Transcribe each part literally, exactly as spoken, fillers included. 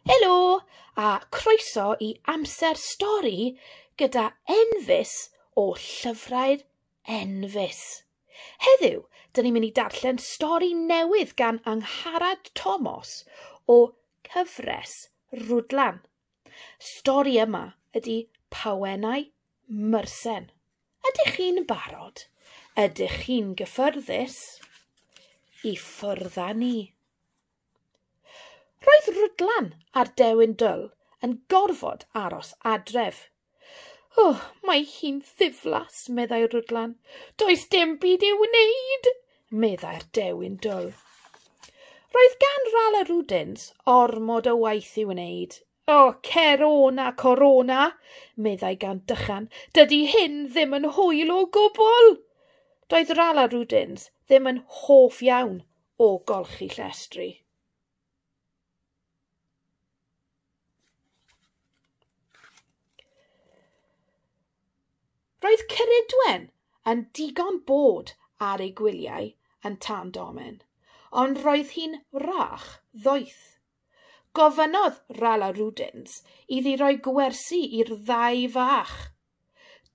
Helo a croeso i Amser Stori gyda Enfys o Llyfrau'r Enfys. Heddiw, dyn ni'n mynd i darllen stori newydd gan Angharad Tomos o Cyfres Rwdlan. Stori yma ydy Pawennau Mursen. Ydych chi'n barod? Ydych chi'n gyffyrddus? I ffwrdd â ni. Roedd Rwdlan a'r Dewin Dwl yn gorfod aros adref. "O, mae hi'n ddiflas," meddai Rwdlan. "Does dim byd i'w wneud," meddai'r Dewin Dwl. Roedd gan Rala Rwdins ormod o waith i'w wneud. "O, Cerona Corona," meddai gan dychan. "Dydy hyn ddim yn hwyl o gwbl." Doedd Rala Rwdins ddim yn hoff iawn o golchi llestri. Roedd Ceridwen yn digon bod ar ei gwyliau yn Tan Domen, ond roedd hi'n wrach ddoeth. Gofynnodd Rala Rwdins iddi roi gwersi i'r ddau fach.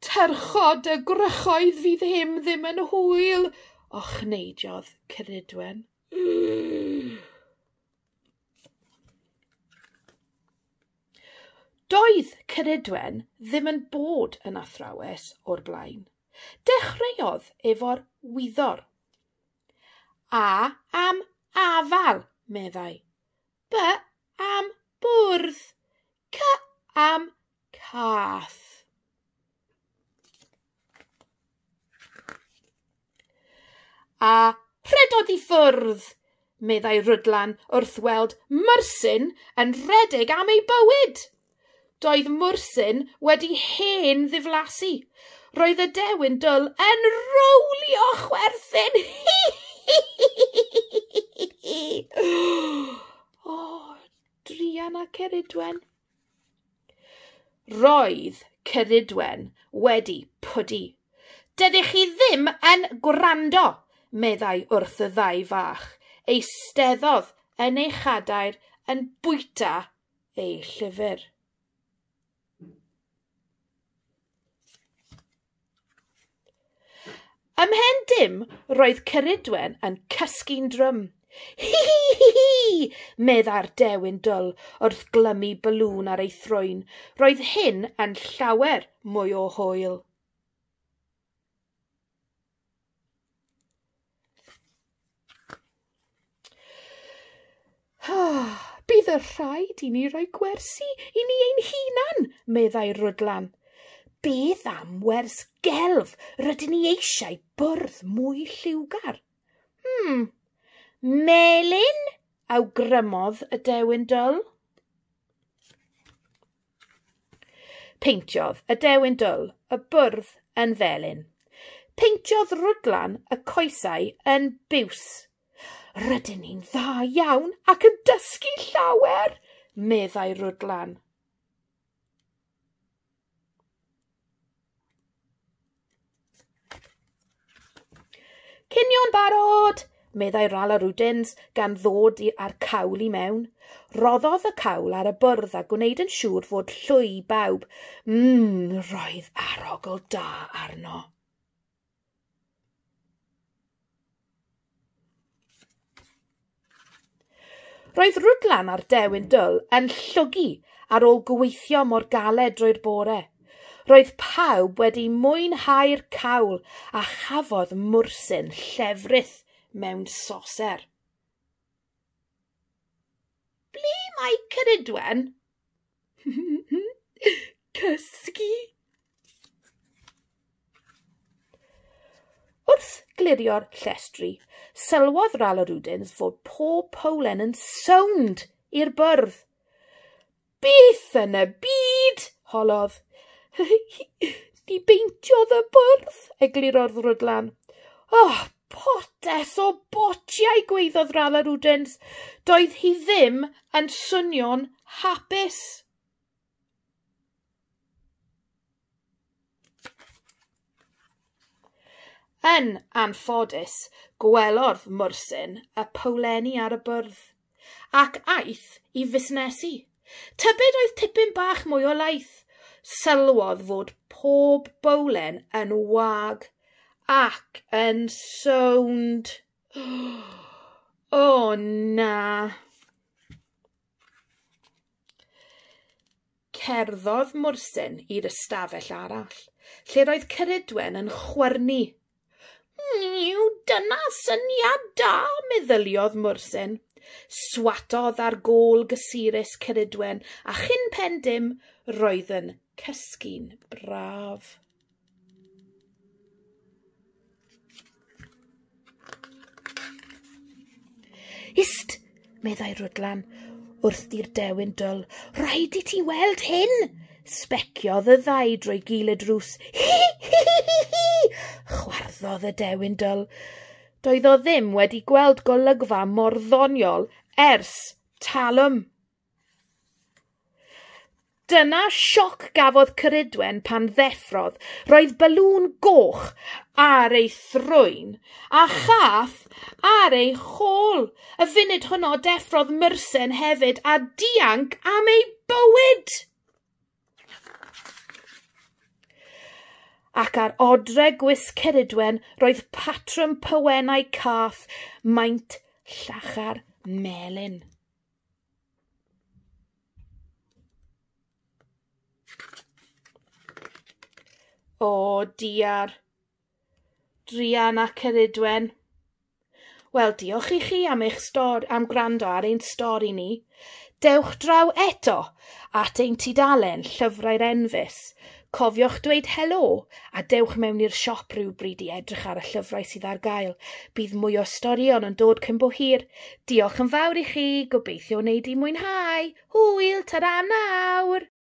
"Tyrchod y gwrychoedd fydd hyn ddim yn hwyl," ochneidiodd Ceridwen. Doedd Ceridwen ddim yn bod yn athrawes o'r blaen. Dechreuodd efo'r wyddor. "A am afal," meddai. "B am bwrdd. C am cath." "A rhedodd i ffwrdd," meddai Rwdlan wrth weld Mursen yn rhedeg am ei bywyd. Doedd Mursen wedi hen ddiflasu. Roedd y Dewin Dwl yn rowlio chwerthin. O, druan a Ceridwen. Roedd Ceridwen wedi pwdu. "Dydych chi ddim yn gwrando," meddai wrth y ddau fach. Eisteddodd yn ei chadair yn bwyta ei llyfr. Ymhen dim, roedd Ceridwen yn cysgu'n drwm. "Hi hi hi hi," meddai'r Dewin Dwl wrth glymu balŵn ar ei thrwyn. Roedd hyn yn llawer mwy o hwyl. "Bydd y rhaid i ni roi gwersi i ni ein hunan," meddai Rwdlan. "Beth am wers gelf? Rydyn ni eisiau bwrdd mwy lliwgar." Hmm, melyn," awgrymodd y Dewin Dwl. Peintiodd y Dewin Dwl y bwrdd yn felyn. Peintiodd Rwdlan y coesau yn biws. "Rydyn ni'n dda iawn ac yn dysgu llawer," meddai Rwdlan. "Cinio'n barod," meddai Rala Rwdins gan ddod â'r cawl i mewn. Roddodd y cawl ar y bwrdd a gwneud yn siŵr fod llwy i bawb. Mmm, roedd arogl da arno. Roedd Rwdlan a'r Dewin Dwl yn llwgu ar ôl gweithio mor galed drwy'r bore. Roedd pawb wedi mwynhau'r cawl a chafodd Mursen llefrith mewn soser. "Ble mae Ceridwen?" "Cysgu." Wrth glirio'r llestri, sylwodd Rala Rwdins fod pob powlen yn sownd i'r bwrdd. "Beth yn y byd?" holodd. "Ni beintiodd y bwrdd," eglurodd Rwdlan. "Oh, potes o botiau," gwaeddodd Rala Rwdins. Doedd hi ddim yn swnio'n hapus. Yn anffodus, gwelodd Mursen y powlenni ar y bwrdd, ac aeth i fusnesu. Tybed oedd tipyn bach mwy o laeth. Sylwodd fod pob bowlen yn wag ac yn sownd. O na! Cerddodd Mwrsyn i'r ystafell arall, lle roedd Ceridwen yn chwyrnu. Miw, dyna syniad da, meddyliodd Mwrsyn. Swatodd ar gôl gysurus Ceridwen, a chyn pen dim roedd yn cysgu'n braf. Ist, meddai Rwdlan, wrth i'r dewin dwl, rhaid i ti weld hyn! Sbeciodd y ddau drwy gil y drws. Hi, hi, hi, hi, hi! Chwarddodd y dewin dwl. Doedd o ddim wedi gweld golygfa mor ddoniol ers talwm. Dyna sioc gafodd Ceridwen pan ddeffrodd. Roedd balŵn goch ar ei thrwyn a chath ar ei chôl. Y funud hwnnw deffrodd Mursen hefyd a dianc am ei bywyd. Ac ar odre gwisg Ceridwen roedd patrwm pywennau cath maint llachar melyn. O diar, druan a Ceridwen. Wel, diolch i chi am eich stor am gwrando ar ein stori ni. Dewch draw eto at ein tudalen Llyfrau'r Enfys. Cofiwch dweud helo a dewch mewn i'r siop rhywbryd i edrych ar y llyfrau sydd ar gael. Bydd mwy o storïon yn dod cyn bo hir. Diolch yn fawr i chi, gobeithio wneud i mwynhau. Hwyl, ta-ra nawr!